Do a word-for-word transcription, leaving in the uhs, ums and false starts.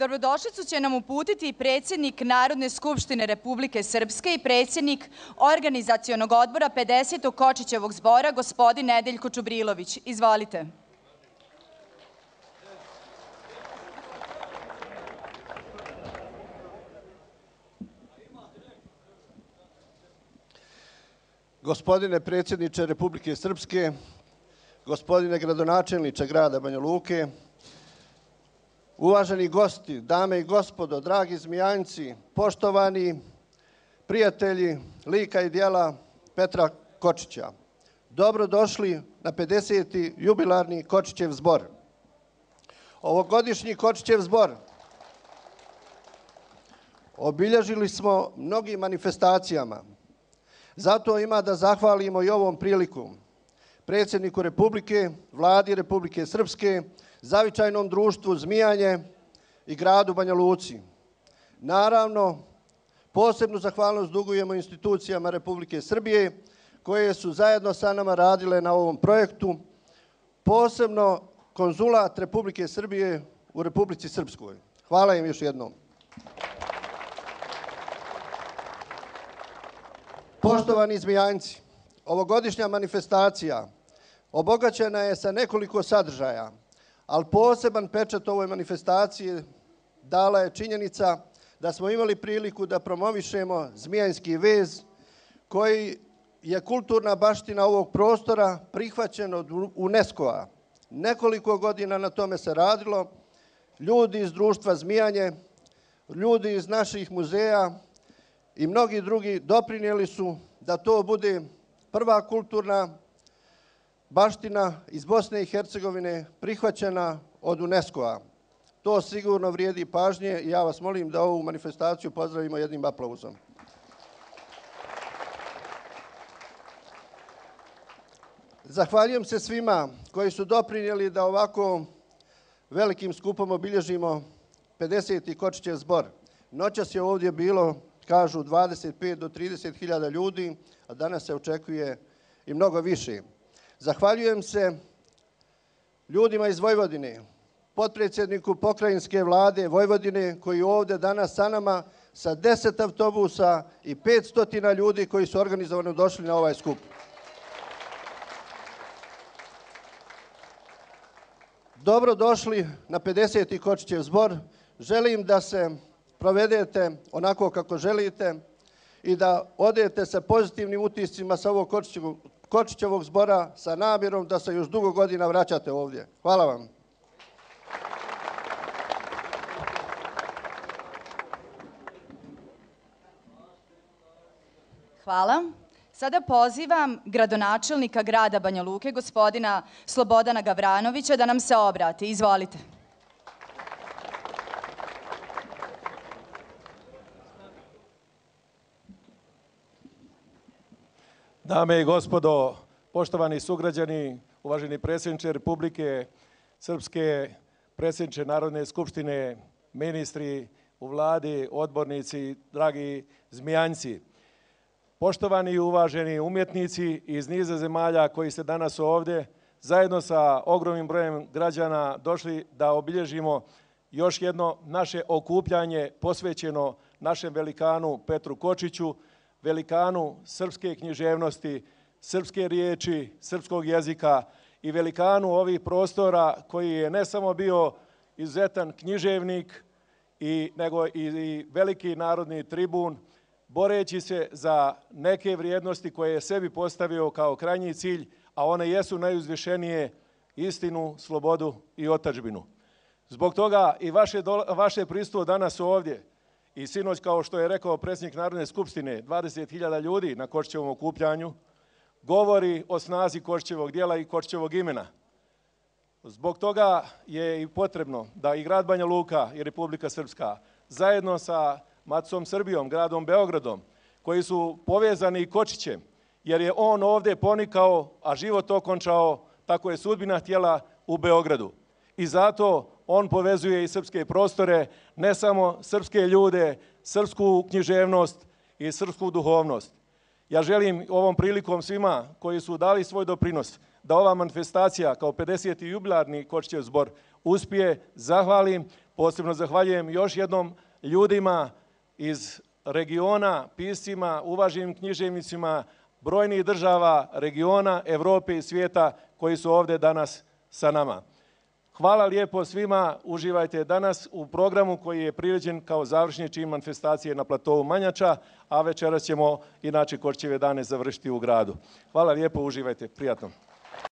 Dobrodošlicu će nam uputiti predsjednik Narodne skupštine Republike Srpske i predsjednik Organizacionog odbora pedesetog Kočićevog zbora, gospodin Nedeljko Čubrilović. Izvolite. Gospodine predsjedniče Republike Srpske, gospodine gradonačelniče grada Banja Luke, uvaženi gosti, dame i gospodo, dragi Zmijanjci, poštovani prijatelji lika i djela Petra Kočića, dobrodošli na pedeseti jubilarni Kočićev zbor. Ovogodišnji Kočićev zbor obilježili smo mnogim manifestacijama. Zato ima da zahvalimo i ovom prilikom predsjedniku Republike, Vladi Republike Srpske, Zavičajnom društvu Zmijanje i gradu Banja Luci. Naravno, posebnu zahvalnost dugujemo institucijama Republike Srbije koje su zajedno sa nama radile na ovom projektu, posebno konzulat Republike Srbije u Republici Srpskoj. Hvala im još jednom. Poštovani Zmijanjci, ovogodišnja manifestacija obogaćena je sa nekoliko sadržaja, ali poseban pečat ovoj manifestaciji dala je činjenica da smo imali priliku da promovišemo zmijanjski vez, koji je kulturna baština ovog prostora prihvaćen od UNESCO-a. Nekoliko godina na tome se radilo. Ljudi iz društva Zmijanje, ljudi iz naših muzeja i mnogi drugi doprinijeli su da to bude prva kulturna baština iz Bosne i Hercegovine prihvaćena od UNESCO-a. To sigurno vrijedi pažnje i ja vas molim da ovu manifestaciju pozdravimo jednim aplauzom. Zahvaljujem se svima koji su doprinijeli da ovako velikim skupom obilježimo pedeseti Kočićev zbor. Noćas je ovdje bilo, kažu, dvadeset pet do trideset hiljada ljudi, a danas se očekuje i mnogo više. Zahvaljujem se ljudima iz Vojvodine, potpredsjedniku pokrajinske vlade Vojvodine koji je ovdje danas sa nama sa deset autobusa i petsto ljudi koji su organizovano došli na ovaj skup. Dobrodošli na pedeseti Kočićev zbor. Želim da se provedete onako kako želite i da odete sa pozitivnim utiscima sa ovog Kočićevog, Kočićevog zbora sa namjerom da se još dugo godina vraćate ovdje. Hvala vam. Hvala. Sada pozivam gradonačelnika grada Banja Luke, gospodina Slobodana Gavranovića, da nam se obrati. Izvolite. Dame i gospodo, poštovani sugrađani, uvaženi predsjedniče Republike Srpske, predsjedniče Narodne skupštine, ministri u vladi, odbornici, dragi Zmijanjci, poštovani i uvaženi umjetnici iz niza zemalja koji ste danas ovdje, zajedno sa ogromnim brojem građana došli da obilježimo još jedno naše okupljanje posvećeno našem velikanu Petru Kočiću, velikanu srpske književnosti, srpske riječi, srpskog jezika i velikanu ovih prostora koji je ne samo bio izuzetan književnik, i, nego i, i veliki narodni tribun, boreći se za neke vrijednosti koje je sebi postavio kao krajnji cilj, a one jesu najuzvišenije: istinu, slobodu i otadžbinu. Zbog toga i vaše, vaše prisustvo danas ovdje i sinoć, kao što je rekao predsjednik Narodne skupštine, dvadeset hiljada ljudi na Kočićevom okupljanju, govori o snazi Kočićevog djela i Kočićevog imena. Zbog toga je i potrebno da i grad Banja Luka i Republika Srpska zajedno sa Maticom Srbijom, gradom Beogradom, koji su povezani Kočićem, jer je on ovdje ponikao, a život okončao, tako je sudbina htjela u Beogradu. I zato on povezuje i srpske prostore, ne samo srpske ljude, srpsku književnost i srpsku duhovnost. Ja želim ovom prilikom svima koji su dali svoj doprinos da ova manifestacija kao pedeseti jubilarni Kočićev zbor uspije, zahvalim, Posebno zahvaljujem još jednom ljudima iz regiona, piscima, uvaženim književnicima, brojnih država, regiona, Evrope i svijeta koji su ovdje danas sa nama. Hvala lijepo svima, uživajte danas u programu koji je priređen kao završni čin manifestacije na platovu Manjača, a večeras ćemo inače Kočijeve dane završiti u gradu. Hvala lijepo, uživajte, prijatno.